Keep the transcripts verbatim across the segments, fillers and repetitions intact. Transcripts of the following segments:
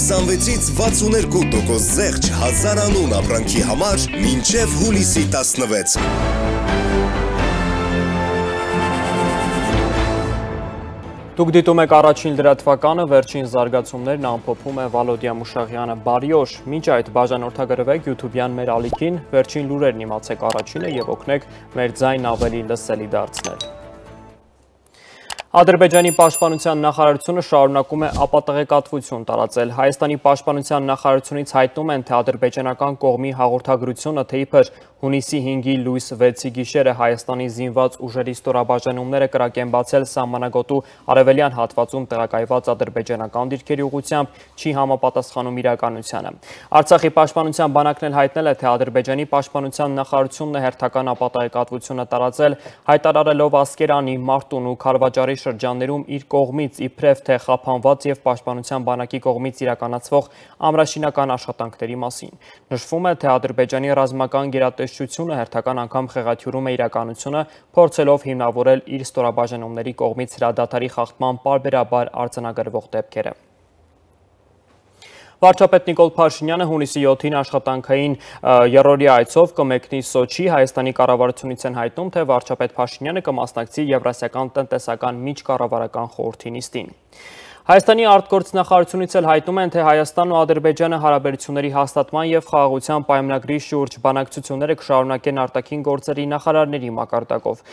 քսանվեցից վաթսուներկու տոկոս զեղչ հազար անուն ապրանքի համար մինչև հուլիսի տասնվեց։ Դուք դիտում եք առաջին լրատվականը, վերջին զարգացումներն ամփոփում է Վալոդիա Մուշաղյանը։ Բարի օր, մինչ այդ բաժանորդագրվեք YouTube-յան մեր ալիքին, վերջին լուրերն իմացեք առաջինը եւ օգնեք մեր ձայնն ավելի լսելի դարձնել։ Ադրբեջանի պաշտպանության նախարարությունը շարունակում է ապատեղեկատվություն տարածել։ Հայաստանի պաշտպանության նախարարությունից հայտնում են, թե ադրբեջանական կողմի հաղորդագրությունը, թե իբր հունիսի հինգի լույս վեցի գիշերը Հայաստանի զինված ուժերի ստորաբաժանումները կրակ են բացել սահմանագոտու արևելյան հատվածում տեղակայված ադրբեջանական դիրքերի ուղղությամբ, չի համապատասխանում իրականությանը։ Արցախի պաշտպանության բանակն էլ հայտնել է, թե Ադրբեջանի պաշտպանության նախարարությունն է հերթական ապատեղեկատվությունը տարածել, հայտարարելով Ասկերանի, Մարտուն ու Քարվաճարի շրջաններում իր կողմից իբրև թե խափանված եւ պաշտպանության բանակի կողմից իրականացվող ամրաշինական աշխատանքների մասին։ Նշվում է, թե Ադրբեջանի ռազմական գերատեսչությունը հերթական անգամ խեղաթյուրում է իրականությունը, փորձելով հիմնավորել իր ստորաբաժանումների կողմից հրադադարի խախտման պարբերաբար արձանագրվող դեպքերը։ Վարչապետ Նիկոլ Փաշինյանը հունիսի յոթին աշխատանքային երրորդյա այցով կմեկնի Սոչի, Հայաստանի կառավարությունից են հայտնում, թե վարչապետ Փաշինյանը կմասնակցի Եվրասիական տնտեսական միջկառավարական խորհրդի նիստին։ Հայաստանի արտգործնախարարությունից էլ հայտնում են, թե Հայաստանն ու Ադրբեջանը հարաբերությունների հաստատման եւ խաղաղության պայմանագրի շուրջ բանակցությունները կշարունակեն արտաքին գործերի նախարարների մակարդակով։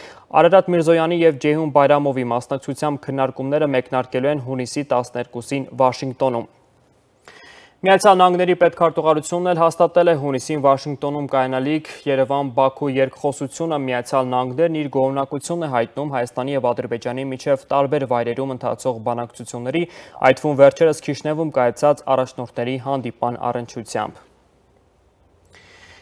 Արարատ Միրզոյանի եւ Ջեյհուն Բայրամովի մասնակցությամբ քննարկումները մեկնարկելու են հունիսի տասներկուսին Վաշինգտոնում։ Միացյալ Նահանգների պետքարտուղարությունն էլ հաստատել է հունիսին Վաշինգտոնում կայանալիք Երևան-Բաքու երկխոսությունը, Միացյալ Նահանգներն իր գոհունակությունն է հայտնում Հայաստանի եւ Ադրբեջանի միջև տարբեր վայրերում ընթացող բանակցությունների, այդ թվում վերջերս Քիշնևում կայացած առաջնորդների հանդիպան առնչությամբ։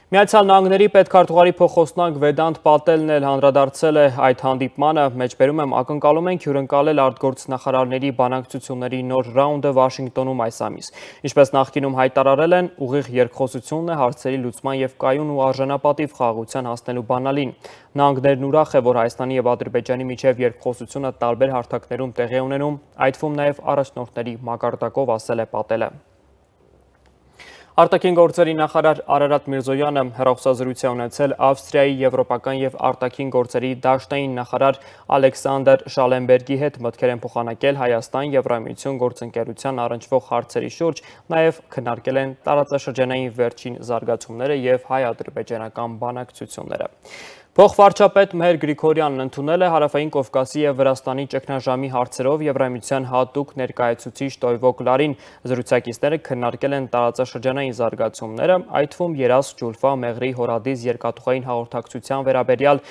Միացյալ Նահանգների պետքարտուղարի փոխոսնակ Վեդանտ Պատելն էլ հանդրադարձել է այդ հանդիպմանը, մեջբերում եմ ակնկալում ենք հյուրընկալել արտգործնախարարների բանակցությունների նոր ռաունդը Վաշինգտոնում այս ամիս։ Ինչպես նախկինում հայտարարել են, ուղիղ երկխոսությունն է հարցերի լուծման եւ կայուն ու արժանապատիվ խաղաղության հասնելու բանալին։ Նահանգներն ուրախ է, որ Հայաստանի եւ Ադրբեջանի միջև երկխոսությունը տարբեր հարթակներում տեղի ունենում, այդ թվում նաեւ առաջնորդների մակարդակով, ասել է Պատելը։ Արտաքին գործերի նախարար Արարատ Միրզոյանը հեռախոսազրույց է ունեցել Ավստրիայի եվրոպական եւ արտաքին գործերի դաշնային նախարար Ալեքսանդր Շալենբերգի հետ, մտքեր են փոխանակել Հայաստան Եվրամիություն գործընկերության առնչվող հարցերի շուրջ, նաեւ քննարկել են տարածաշրջանային վերջին զարգացումները եւ հայ-ադրբեջանական բանակցությունները։ Փոխվարչապետ Մեհեր Գրիգորյանն ընդունել է Հարավային Կովկասի եւ Վրաստանի ճգնաժամի հարցերով Եվրամիության հատուկ ներկայացուցիչ Տոյվո Կլարին։ Զրուցակիցները քննարկել են տարածաշրջանային զարգացումները, այդ թվում Երազ, Ջուլֆա, Մեղրի, Հորադիս երկաթուղային հաղորդակցության վերաբերյալ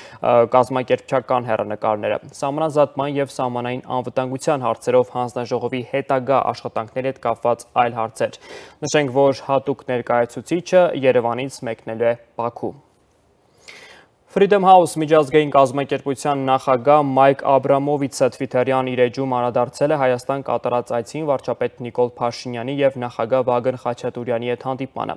կազմակերպչական հեռանկարները, սահմանազատման եւ սահմանային անվտանգության հարցերով հանձնաժողովի հետագա աշխատանքների հետ կապված այլ հարցեր։ Նշենք, որ հատուկ ներկայացուցիչը Երևանից մեկնելու է Բաքու։ Freedom House միջազգային կազմակերպության նախագահ Մայք Աբրամովիցը Թվիթերյան իր էջում անդրադարձել է Հայաստան կատարած այցին վարչապետ Նիկոլ Փաշինյանի եւ նախագահ Վագն Խաչատուրյանի հետ հանդիպմանը։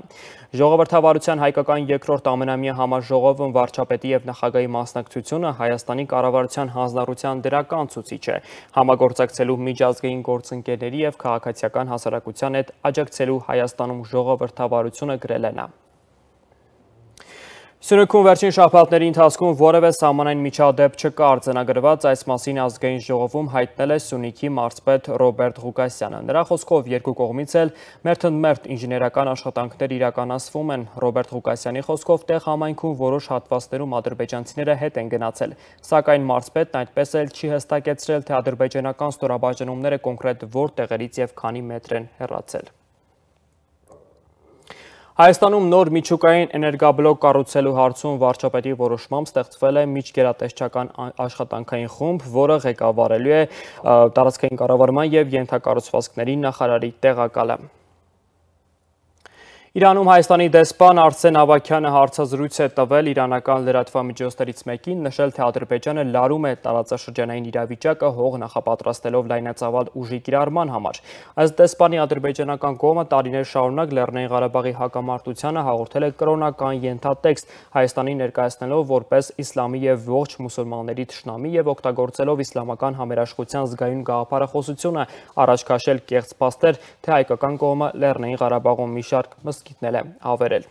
Ժողովրդավարության հայկական երկրորդ ամենամյա համաժողովում վարչապետի եւ նախագահի մասնակցությունը Հայաստանի կառավարության հանձնառության դրական ցուցիչ է, համագործակցելու միջազգային գործընկերների եւ քաղաքացիական հասարակության հետ աջակցելու Հայաստանում ժողովրդավարությունը, գրել է նա։ Սյունիքում վերջին շաբաթների ընթացքում որևէ սահմանային միջադեպ չկա, արձանագրված այս մասին ազգային ժողովում հայտնել է Սյունիքի մարզպետ Ռոբերտ Ղուկասյանը։ Նրա խոսքով երկու կողմից էլ մերթընդմերթ ինժեներական աշխատանքներ իրականացվում են։ Ռոբերտ Ղուկասյանի խոսքով տեղ համայնքում որոշ հատվածներում ադրբեջանցիները հետ են գնացել, սակայն մարզպետն այդպես էլ չի հստակեցրել, թե ադրբեջանական ստորաբաժանումները կոնկրետ որ տեղերից եւ քանի մետր են հեռացել։ Հայաստանում նոր միջուկային էներգաբլոկ կառուցելու հարցում վարչապետի որոշմամբ ստեղծվել է միջգերատեսչական աշխատանքային խումբ, որը ղեկավարելու է տարածքային կառավարման եւ ենթակառուցվածքների նախարարի տեղակալը։ Իրանում Հայաստանի դեսպան Արսեն Ավագյանը հարցազրույց է տվել իրանական լրատվամիջոցներից մեկին, նշել, թե Ադրբեջանը լարում է տարածաշրջանային իրավիճակը հող նախապատրաստելով լայնածավալ ուժի կիրառման համար։ Ըստ դեսպանի ադրբեջանական կողմը տարիներ շարունակ Լեռնային Ղարաբաղի հակամարտությանը հաղորդել է կրոնական ենթատեքստ, Հայաստանի ներկայացնելով որպես իսլամի և ողջ մուսուլմանների թշնամի և օգտագործելով իսլամական համերաշխության զգայուն գաղափարախոսությունը առաջ քաշել կեղծ փաստեր, թե հայկական կողմը Լեռնային Ղարաբաղում մի շարք մզկիթներ է ավերել։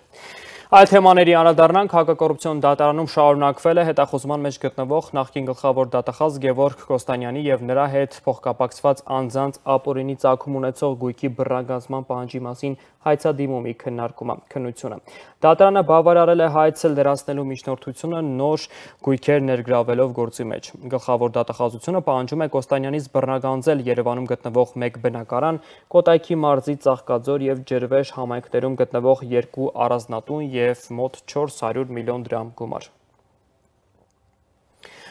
Այլ թեմաների անդրադառնանք, հակակոռուպցիոն դատարանում շարունակվել է հետախուզման մեջ գտնվող նախկին գլխավոր դատախազ Գևորգ Կոստանյանի և նրա հետ փոխկապակցված անձանց ապօրինի ծագում ունեցող գույքի բռնագանձման պահանջի մասին հայցադիմումի քննությունը։ Դատարանը բավարարել է հայցը լրացնելու միջնորդությունը նոր գույքեր ներգրավելով գործի մեջ։ Գլխավոր դատախազությունը պահանջում է Կոստանյանից բռնագանձել Երևանում գտնվող մեկ բնակարան, Կոտայքի մարզի Ծաղկաձոր և Ջրվեժ համայնքներում գտնվող երկու առանձնատուն և մոտ չորս հարյուր միլիոն դրամ գումար։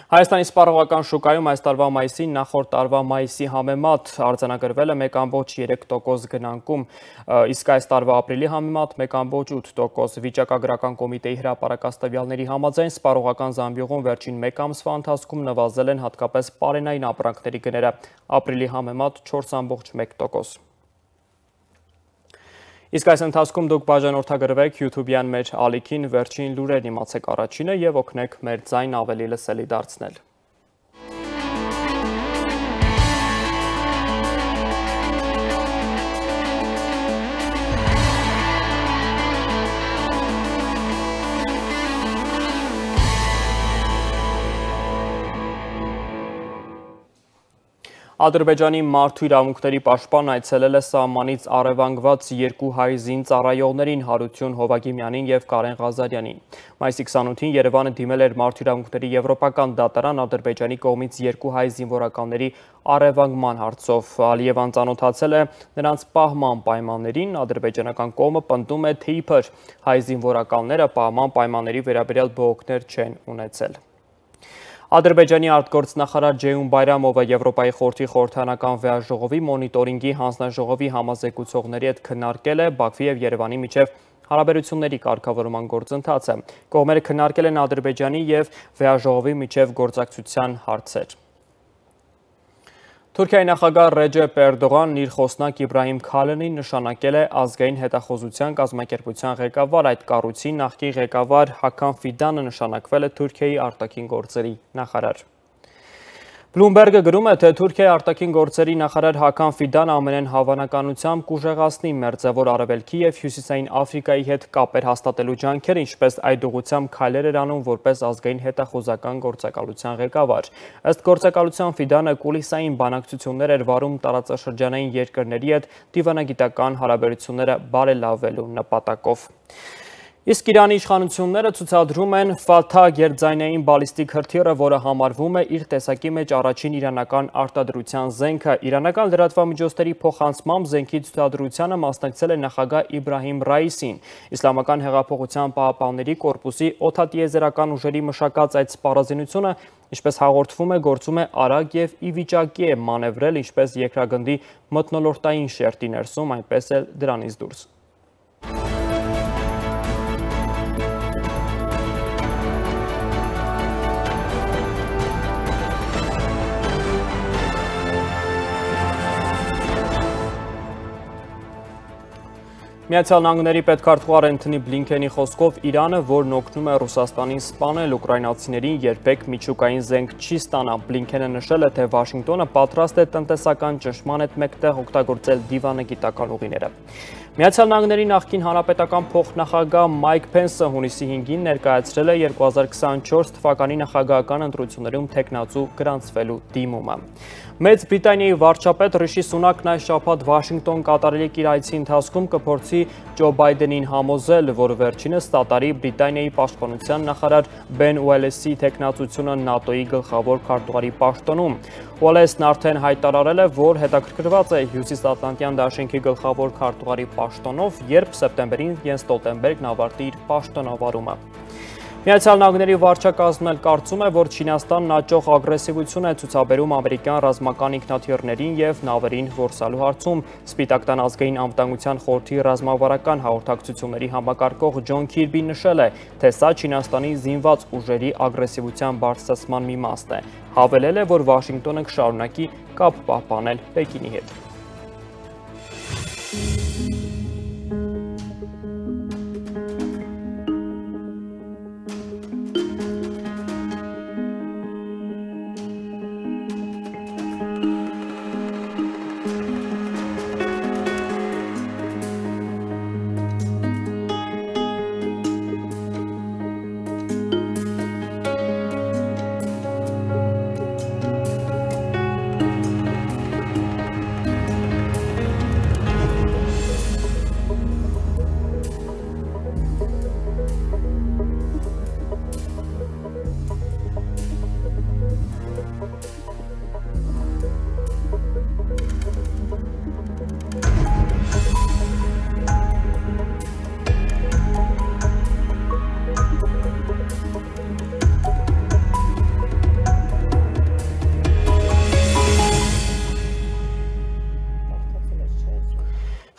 Հայաստանի սպառողական շուկայում այս տարվա մայիսին նախորդ տարվա մայիսի համեմատ արձանագրվել է մեկ ամբողջ երեք տոկոս գնանկում, իսկ այս տարվա ապրիլի համեմատ մեկ ամբողջ ութ տոկոս։ Վիճակագրական կոմիտեի հրապարակած տվյալների համաձայն սպառողական զամբյուղում վերջին մեկ ամսվա ընթացքում նվազել են հատկապես պարենային ապրանքների գները, ապրիլի համեմատ չորս ամբողջ մեկ տոկոս։ Իսկ այս ընթացքում դուք բաժանորդագրվեք YouTube-յան մեր ալիքին, վերջին լուրերն իմացեք առաջինը և օգնեք մեր ձայն ավելի լսելի դարձնել։ Ադրբեջանի մարդու իրավունքների պաշտպանն այցելել է սահմանից առևանգված երկու հայ զինծառայողներին՝ Հարություն Հովագիմյանին և Կարեն Ղազարյանին։ Մայիսի քսանութին Երևանը դիմել էր Մարդու իրավունքների եվրոպական դատարան Ադրբեջանի կողմից երկու հայ զինվորականների առևանգման հարցով։ Ալիևան ծանոթացել է նրանց պահման պայմաններին, ադրբեջանական կողմը պնդում է, թե իբր հայ զինվորականները պահման պայմանների վերաբերյալ բողոքներ չեն ունեցել։ Ադրբեջանի արտգործնախարար Ջեյուն Բայրամովը Եվրոպայի խորհրդի խորհրդարանական վեաժողովի մոնիտորինգի հանձնաժողովի համազեկուցողների հետ քննարկել է Բաքվի և Երևանի միջև հարաբերությունների կարգավորման գործընթացը։ Կողմերը քննարկել են Ադրբեջանի և վեաժողովի միջև գործակցության հարցեր։ Թուրքիայի նախագահ Ռեջեփ Էրդողանն իր խոսնակ Իբրահիմ Քալենին նշանակել է ազգային հետախուզության կազմակերպության ղեկավար, այդ կառույցի նախկին ղեկավար Հաքան Ֆիդանը նշանակվել է Թուրքիայի արտաքին գործերի նախարար։ Բլումբերգը գրում է, թե Թուրքիայի արտաքին գործերի նախարար Հաքան Ֆիդան ամենայն հավանականությամբ կուժեղացնի Մերձավոր Արևելքի և Հյուսիսային Աֆրիկայի հետ կապեր հաստատելու ջանքերը, ինչպես այդ ուղղությամբ քայլեր էր անում որպես ազգային հետախուզական գործակալության ղեկավար։ Ըստ գործակալության Ֆիդանը կուլիսային բանակցություններ էր վարում տարածաշրջանային երկրների հետ դիվանագիտական հարաբերությունները բարելավելու նպատակով։ Իսկ Իրանի իշխանությունները ցուցադրում են Ֆաթա գերձայնային բալիստիկ հրթիռը, որը համարվում է իր տեսակի մեջ առաջին իրանական արտադրության զենքը։ Իրանական լրատվամիջոցների փոխանցմամբ զենքի ցուցադրությանը մասնակցել է նախագահ Իբրահիմ Ռայիսին։ Իսլամական հեղափոխության պահապանների կորպուսի օդատիեզերական ուժերի մշակած այդ սպառազինությունը, ինչպես հաղորդվում է, գործում է արագ և ի վիճակի է մանևրել ինչպես երկրագնդի մթնոլորտային շերտի ներսում, այնպես էլ դրանից դուրս։ Միացյալ Նահանգների պետքարտուղար Էնթոնի Բլինքենի խոսքով Իրանը, որն օգնում է Ռուսաստանին սպանել ուկրաինացիներին, երբեք միջուկային զենք չի ստանա։ Բլինքենը նշել է, թե Վաշինգտոնը պատրաստ է տնտեսական ճնշման հետ մեկտեղ օգտագործել դիվանագիտական ուղիները։ Միացյալ Նահանգների նախկին հանրապետական փոխնախագահ Մայք Փենսը հունիսի հինգին ներկայացրել է երկու հազար քսանչորս թվականի նախագահական ընտրություններում թեկնածու գրանցվելու դիմումը։ Մեծ Բրիտանիայի վարչապետ Ռիշի Սունակն այս շաբաթ Վաշինգտոն կատարելիք իր այցի ընթացքում կփորձի Ջո Բայդենին համոզել, որ վերջինս ստատարի Բրիտանիայի պաշտպանության նախարար Բեն Ուելեսի թեկնածությունը ՆԱՏՕ-ի գլխավոր քարտուղարի պաշտոնում։ Ուելեսն արդեն հայտարարել է, որ հետաքրքրված է Հյուսիսատլանտյան դաշինքի գլխավոր քարտուղարի պաշտոնով, երբ սեպտեմբերին Յենս Ստոլտենբերգն ավարտի իր պաշտոնավարումը։ Միացյալ Նահանգների վարչակազմն էլ կարծում է, որ Չինաստանն աճող ագրեսիվություն է ցուցաբերում ամերիկյան ռազմական ինքնաթիռներին և նավերին որսալու հարցում։ Սպիտակ տան ազգային անվտանգության խորհրդի ռազմավարական հաղորդակցությունների համակարգող Ջոն Քիրբին նշել է, թե սա Չինաստանի զինված ուժերի ագրեսիվության բարձրացման մի մասն է։ Հավելել է, որ Վաշինգտոնը կշարունակի կապ պահպանել Պեկինի հետ։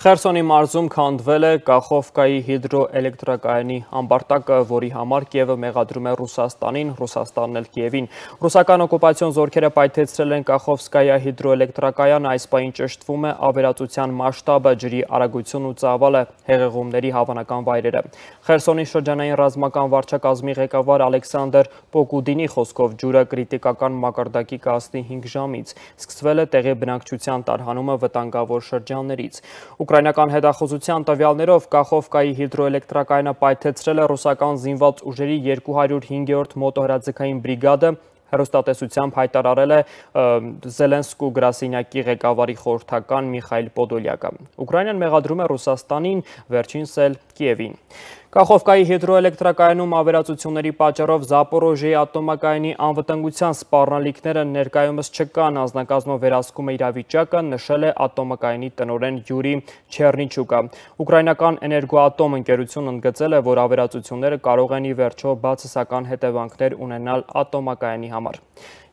Խերսոնի մարզում քանդվել է Կախովկայի հիդրոէլեկտրակայանի ամբարտակը, որի համար Կիևը մեղադրում է Ռուսաստանին, Ռուսաստանն էլ Կիևին։ Ռուսական օկուպացիոն զորքերը պայթեցրել են Կախովսկայա հիդրոէլեկտրակայանը, այս պահին ճշտվում է ավերածության մասշտաբը, ջրի արագությունն ու ծավալը, հեղեղումների հավանական վայրերը։ Խերսոնի շրջանային ռազմական վարչակազմի ղեկավար Ալեքսանդր Պոկուդինի խոսքով ջուրը կրիտիկական մակարդակի կհասնի հինգ ժամից։ Սկսվել է տեղի բնակչության տարհանումը վտանգավոր շրջաններից։ Ուկրաինական հետախուզության տվյալներով Կախովկայի հիդրոէլեկտրակայանը պայթեցրել է ռուսական զինված ուժերի երկու հարյուր հինգերորդ մոտոհրաձգային բրիգադը, հեռուստատեսությամբ հայտարարել է Զելենսկու գրասենյակի ղեկավարի խորհրդական Միխայիլ Պոդոլյակը։ Ուկրաինան մեղադրում է Ռուսաստանին, վերջինս էլ Կիևին։ Կախովկայի հիդրոէլեկտրակայանում ավերածությունների պատճառով Զապորոժիեի ատոմակայանի անվտանգության սպառնալիքները ներկայումս չկան, անձնակազմը վերահսկում է իրավիճակը, նշել է ատոմակայանի տնօրեն Յուրի Չեռնիչուկը։ Ուկրաինական էներգոատոմ ընկերությունն ընդգծել է, որ ավերածությունները կարող են ի վերջո բացասական հետևանքներ ունենալ ատոմակայանի համար։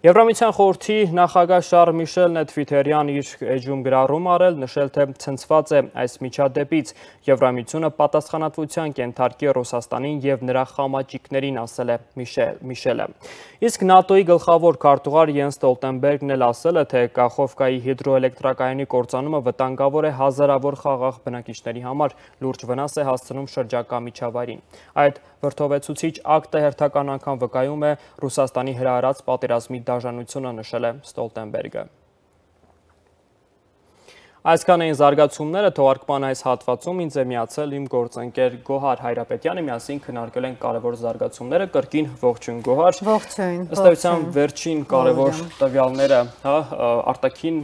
Եվրամիության խորհրդի նախագահ Շարլ Միշելն է Թվիթերյան իր էջում գրառում արել, նշել, թե ցնցված է այս միջադեպից։ Եվրամիությունը պատասխանատվության կենթարկի Ռուսաստանին և նրա խամաճիկներին, ասել է Միշելը։ Իսկ ՆԱՏՕ-ի գլխավոր քարտուղար Յենս Ստոլտենբերգն էլ ասել է, թե Կախովկայի հիդրոէլեկտրակայանի կործանումը վտանգավոր է հազարավոր խաղաղ բնակիչների համար, լուրջ վնաս է հասցնում շրջակա միջավայրին։ Այդ վրդովեցուցիչ ակտը հերթական անգամ վկայում է Ռուսաստանի հրահրած պատերազմի դաժանությունը, նշել է Ստոլտենբերգը։ Այսքան էին զարգացումները, թողարկման այս հատվածում ինձ է միացել իմ գործընկեր Գոհար Հայրապետյանը, միասին քննարկել ենք կարևոր զարգացումները, կրկին ողջույն Գոհար։ Ողջույն։ Ըստ էության վերջին կարևոր տվյալները, հա, արտաքին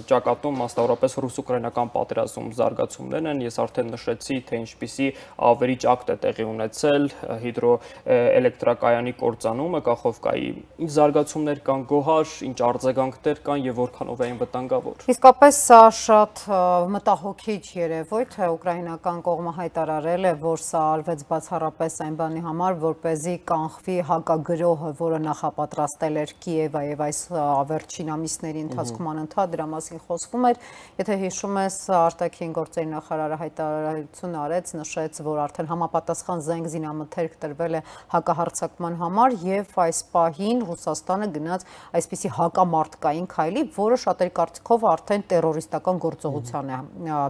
ճակատում, մասնավորապես ռուս-ուկրաինական պատերազմում զարգացումներն են, ես արդեն նշեցի, թե ինչպիսի ավերիչ ակտ է տեղի ունեցել հիդրոէլեկտրակայանի կործանումը Կախովկայի։ Ինչ զարգացումներ կան Գոհար, ինչ արձագանքներ կան եւ որքանով էին վտանգավոր։ Իսկապես սա շատ մտահոգիչ երևույթ է, ուկրաինական կողմը հայտարարել է, որ սա արվեց բացառապես այն բանի համար, որպեսզի կանխվի հակագրոհը, որը նախապատրաստել էր Կիևը եւ այս վերջին ամիսների ընթացքում անընդհատ դրա մասին խոսվում էր։ Եթե հիշում ես, արտաքին գործերի նախարարը հայտարարություն արեց, նշեց, որ արդեն համապատասխան զենք զինամթերք տրվել է հակահարձակման համար եւ այս պահին Ռուսաստանը գնաց այսպիսի հակամարտկային քայլի, որը շատերի կարծիքով արդեն տերորիստական գործողության է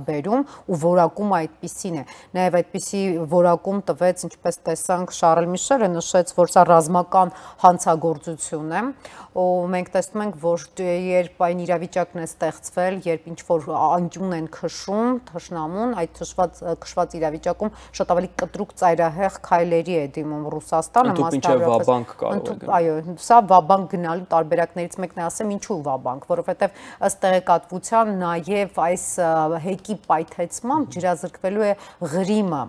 բերում ու որակում այդպիսին է։ Նաև այդպիսի որակում տվեց, ինչպես տեսանք, Շարլ Միշելը նշեց, որ սա ռազմական հանցագործություն է, ու մենք տեսնում ենք, որ երբ այն իրավիճակն է ստեղծվել, երբ ինչ-որ անկյուն են քշում, թշնամուն, այդ թշված քշված իրավիճակում շատ ավելի կտրուկ ծայրահեղ քայլերի է դիմում Ռուսաստանը, մասնավորապես։ Այո, սա վաբանկ գնալու տարբերակներից մեկն է, ասեմ, ինչու վաբանկ, որովհետև ըստ տեղեկատվության նաև այս հեկի պայթեցմամբ ջրազրկվելու է Ղրիմը,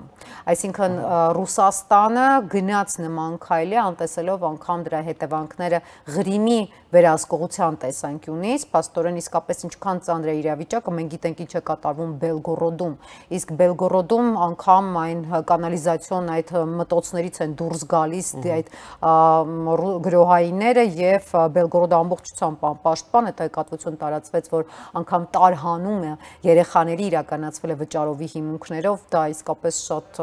այսինքն Ռուսաստանը գնաց նման քայլի, անտեսելով անգամ դրա հետևանքները Ղրիմի վերահսկողության տեսանկյունից, փաստորեն իսկապես ինչքան ծանր է իրավիճակը, մենք գիտենք ինչ է կատարվում Բելգորոդում, իսկ Բելգորոդում անգամ այն կանալիզացիոն այդ մտոցներից են դուրս գալիս այդ գրոհայինները եւ Բելգորոդը ամբողջությամբ պաշտպան է, տեղեկատվություն տարածվեց, որ անգամ տարհանումը երեխաների իրականացվել է վճարովի հիմունքներով, դա իսկապես շատ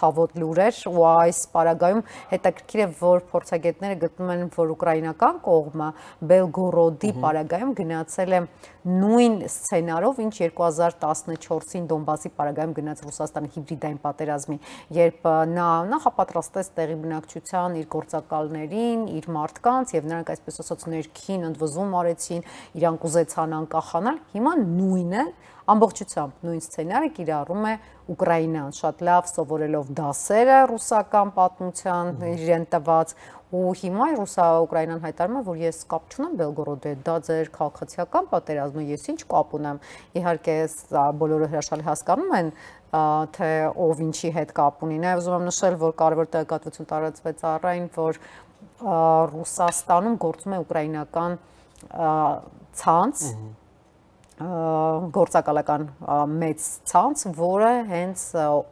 ցավոտ լուր էր ու այս պարագայում հետաքրքիր է, որ փորձագետները գտնում են, որ ուկրաինական կողմը Բելգորոդի պարագայում գնացել է նույն սցենարով, ինչ երկու հազար տասնչորսին Դոնբասի պարագայում գնաց Ռուսաստանի հիբրիդային պատերազմի, երբ նա նախապատրաստեց տեղի բնակչության իր գործակալներին, իր մարդկանց եւ նրանք այսպես ասած ներքին ընդվզում արեցին, իրանք ուզեցան անկախանալ, հիմա նույնը ամբողջությամբ նույն սցենարը կիրառում է Ուկրաինան, շատ լավ սովորելով դասերը ռուսական պատմության իրեն տված ու հիմա Ռուսա-Ուկրաինան հայտարարում է, որ ես կապ չունեմ Բելգորոդի հետ, դա ձեր քաղաքացիական պատերազմն է, ես ինչ կապ ունեմ։ Իհարկե բոլորը հրաշալի հասկանում են, թե ով ինչի հետ կապ ունի։ Նաև ուզում եմ նշել, որ կարևոր տեղեկատվություն տարածվեց առայն, որ Ռուսաստանում գործում է ուկրաինական ցանց, գործակալական մեծ ցանց, որը հենց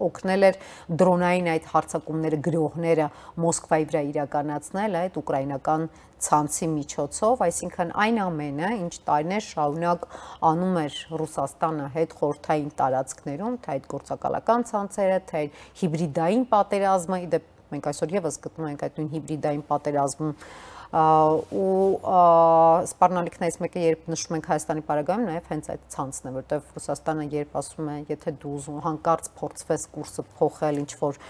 օգնել էր դրոնային այդ հարձակումները, գրոհները Մոսկվայի վրա իրականացնել այդ ուկրաինական ցանցի միջոցով, այսինքն այն ամենը, ինչ տարիներ շարունակ անում էր Ռուսաստանը հետ խորհրդային տարածքներում, թե այդ գործակալական ցանցերը, թե հիբրիդային պատերազմը, իդեպ մենք այսօր եւս գտնում ենք այդ նույն հիբրիդային պատերազմում ու սպառնալիքներից մեկը, երբ նշում ենք Հայաստանի պարագայում, նաև հենց այդ ցանցն է, որտեղ Ռուսաստանը երբ ասում է, եթե դու ուզում հանկարծ փորձվես կուրսը փոխել, ինչ որ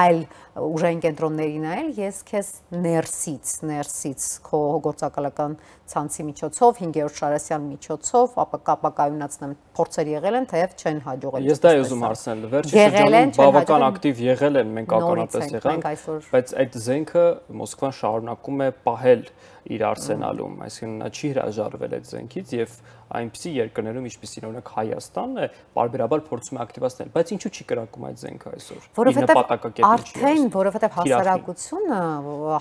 այլ ուժային կենտրոնների նայել, ես քեզ ներսից, ներսից քո գործակալական ցանցի միջոցով, հինգերորդ Շարասյան միջոցով, ապակայունացնեմ, փորձեր եղել են, թեև չեն հաջողել։ Ես դա ուզում հարցնել, վերջին շրջանում բավական ակտիվ եղել են, մենք ականատես եղանք, բայց այդ զենքը Մոսկվան շարունակում է պահել իր արսենալում, այսինքն նա չի հրաժարվել այդ զենքից եւ այնպիսի երկրներում, ինչպիսին օրինակ Հայաստանն է, պարբերաբար փորձում է ակտիվացնել, բայց ինչու չի կրակում այդ զենքը այսօր։ Որովհետեւ արդեն, որովհետեւ հասարակությունը,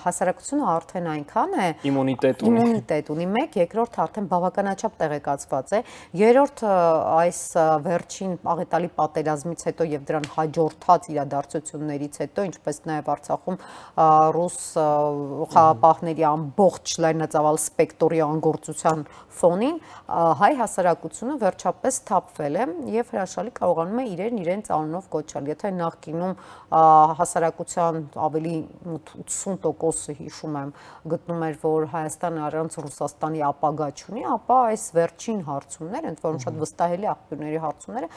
հասարակությունը արդեն այնքան է իմունիտետ ունի, իմունիտետ ունի, մեկ, երկրորդ արդեն բավականաչափ տեղեկացված է, երրորդ այս վերջին աղետալի պատերազմից հետո եւ դրան հաջորդած իրադարձություններից հետո, ինչպես նաեւ Արցախում ռուս խաղապահների ամբողջ լայնածավալ սպեկտրի անգործության ֆոնին հայ հասարակությունը վերջապես թափվել է եւ հրաշալի կարողանում է իրեն իրենց անունով կոչել։ Եթե նախկինում հասարակության ավելի ութսուն տոկոսը հիշում եմ գտնում էր, որ Հայաստանը առանց Ռուսաստանի ապագա չունի, ապա այս վերջին հարցումները, ընդ որում շատ վստահելի աղբյուրների հարցումները,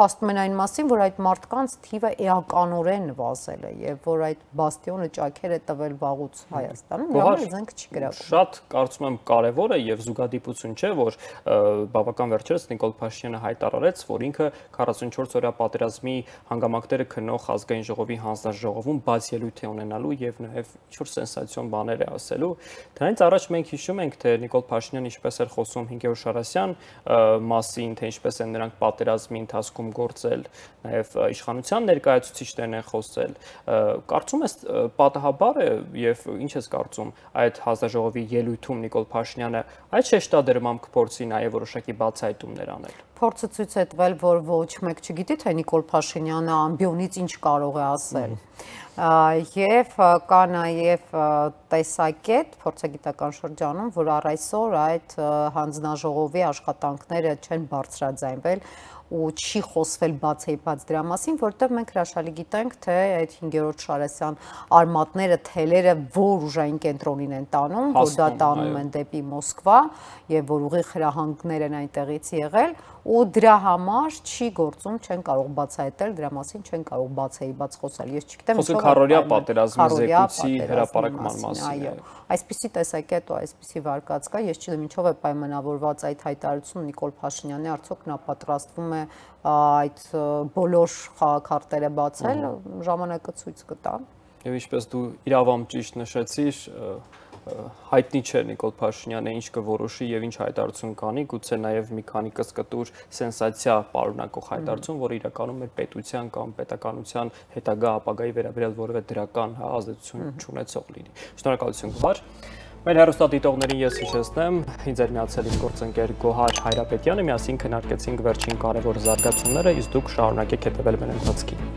փաստում են այն մասին, որ այդ մարդկանց թիվը էականորեն նվազել է եւ որ այդ բաստիոնը ճաքեր է տվել վաղուց Հայաստանում, դրա զենք չի գրավում։ Շատ կարծում եմ կարևոր է եւ զուգադիպություն չէ, որ բավական վերջերս Նիկոլ Փաշինյանը հայտարարեց, որ ինքը քառասունչորս օրյա պատերազմի հանգամանքները քննող ազգային ժողովի հանձնաժողովում բաց ելույթ է ունենալու եւ նաեւ ինչ-որ սենսացիոն բաներ է ասելու։ Դրանից առաջ մենք հիշում ենք, թե Նիկոլ Փաշինյանը ինչպես էր խոսում հինգերորդ Շարասյան մասին, թե ինչպես են նրանք պատերազմի ընթացքում գործել, նաեւ իշխանության ներկայացուցիչներն են խոսել։ Կարծում ես պատահաբար է եւ ինչ ես կարծում այդ հանձնաժողովի ելույթում Նիկոլ Փաշինյանը այդ շեշտադրմամբ կփորձի նաեւ որոշակի բացահայտումներ անել։ Փորձը ցույց է տվել, որ ոչ մեկ չգիտի, թե Նիկոլ Փաշինյանը ամբիոնից ինչ կարող է ասել։ Եվ կա նաև տեսակետ փորձագիտական շրջանում, որ առ այսօր այդ հանձնաժողովի աշխատանքները չեն բարձրաձայնվել ու չի խոսվել բացեիփած դրա մասին, որտեղ մենք հրաշալի գիտենք, թե այդ հինգերորդ Շարասյան արմատները, թելերը որ ուժային կենտրոնին են տանում, որ դա տանում են դեպի Մոսկվա եւ որ ուղիղ հրահանգներ են այնտեղից եղել ու դրա համար չի գործում, չեն կարող բացահայտել, դրա մասին չեն կարող բացեիփած խոսել։ Ես չգիտեմ, ով քարորիա պատերազմի զեկույցի հրապարակման մասին։ Այո, այսպիսի տեսակետ ու այսպիսի վարկած կա, ես չգիտեմ ինչով է պայմանավորված այդ հայտարարությունը Նիկոլ Փաշինյանի, արդյոք նա պատրաստվում է այդ բոլոր խաղաքարտերը բացել, ժամանակը ցույց կտա։ Եվ ինչպես դու իրավամբ ճիշտ նշեցիր, հայտնի չէ Նիկոլ Փաշինյանը ինչ կորոշի եւ ինչ հայտարարություն կանի, գուցե նաեւ մի քանի կսկտուր սենսացիա պարունակող հայտարարություն, որը իրականում է պետության կամ պետականության հետագա ապագայի վերաբերյալ որևէ դրական ազդեցություն չունեցող լինի։ Շնորհակալություն, Գուհար։ Մեր հեռուստադիտողներին ես հիշեցնեմ, ինձ էր միացել իմ գործընկեր Գոհար Հայրապետյանը, միասին քննարկեցինք վերջին կարևոր զարգացումները, իսկ դուք շարունակեք հետևել մեր ընթացքին։